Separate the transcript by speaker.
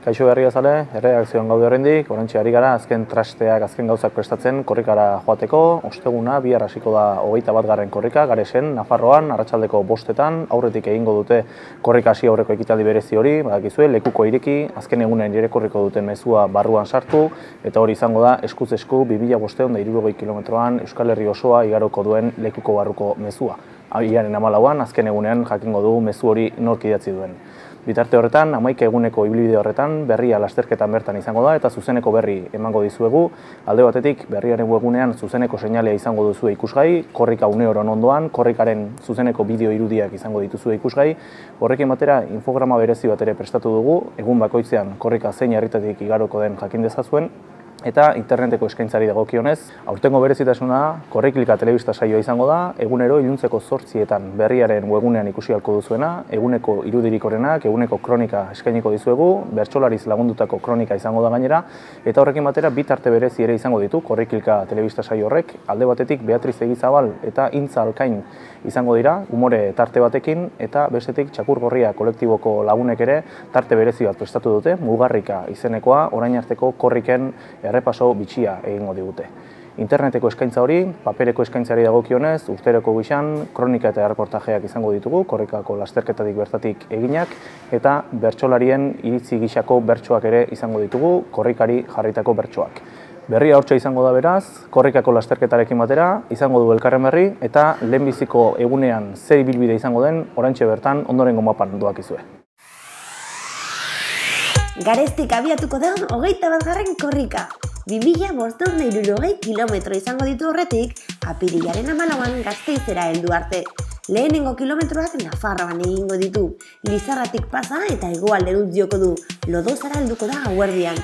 Speaker 1: Kaixo berria zale, erredakzioan gaude horrendik, orantxe ari gara azken trasteak, azken gauzak prestatzen korrikara joateko. Osteguna, bihar hasiko da 21. korrika, Garesen, Nafarroan, arratsaldeko 5:00, aurretik egingo dute korrika hasi aurreko ekitaldi berezi hori, badakizue, lekuko ireki, azken egunen irakurriko duten mezua barruan sartu, eta hori izango da eskuz esku 2560 kilometroan Euskal Herri osoa igaroko duen lekuko barruko mezua. Abiaren 14an, azken egunean jakingo du mezu hori nork idatzi duen. Bitarte horretan, 11 eguneko ibilbide horretan, berria lasterketan bertan izango da eta zuzeneko berri emango dizuegu. Alde batetik, berriaren webgunean zuzeneko seinalea izango duzue ikusgai, korrika uneoron ondoan, korrikaren zuzeneko bideo irudiak izango dituzue ikusgai. Horrekin batera, infograma berezi bat ere prestatu dugu, egun bakoitzean korrika zein herritatik igaroko den jakin dezazuen, eta interneteko eskaintzari dagokionez, aurtengo berezitasuna Korriklika telebista saioa izango da, egunero iluntzeko 8:00 berriaren webgunean ikusi ahalko duzuena, eguneko irudirik orenak, eguneko kronika eskainiko dizuegu, bertsolariz lagundutako kronika izango da gainera, eta horrekin batera bi tarte berezi ere izango ditu Korriklika telebista saio horrek, alde batetik Beatriz Egizabal eta Intza Alkain izango dira, umore tarte batekin, eta bestetik Txakur Gorria kolektiboko lagunek ere tarte berezi bat prestatu dute, Mugarrika izenekoa, orain arteko korriken errepaso bitxia egingo digute. Interneteko eskaintza hori, papereko eskaintzari dagokionez, urteroko gixan, kronika eta erreportajeak izango ditugu, korrikako lasterketatik bertatik eginak, eta bertsolarien iritzi gixako bertsoak ere izango ditugu, korrikari jarritako bertsoak. Berria hortxe izango da beraz, korrikako lasterketarekin batera, izango du elkarren berri, eta lehenbiziko egunean zer ibilbide izango den, oraintxe bertan ondorengo mapan doakizue.
Speaker 2: Garestik abiatuko da 21. korrika. 2560 kilometro izango ditu horretik, apirilaren 14an Gasteizera heldu arte. Lehenengo kilometroak Nafarroan egingo ditu, Lizarratik pasa eta hegoalderantz joko du, Lodozara helduko da gauerdian.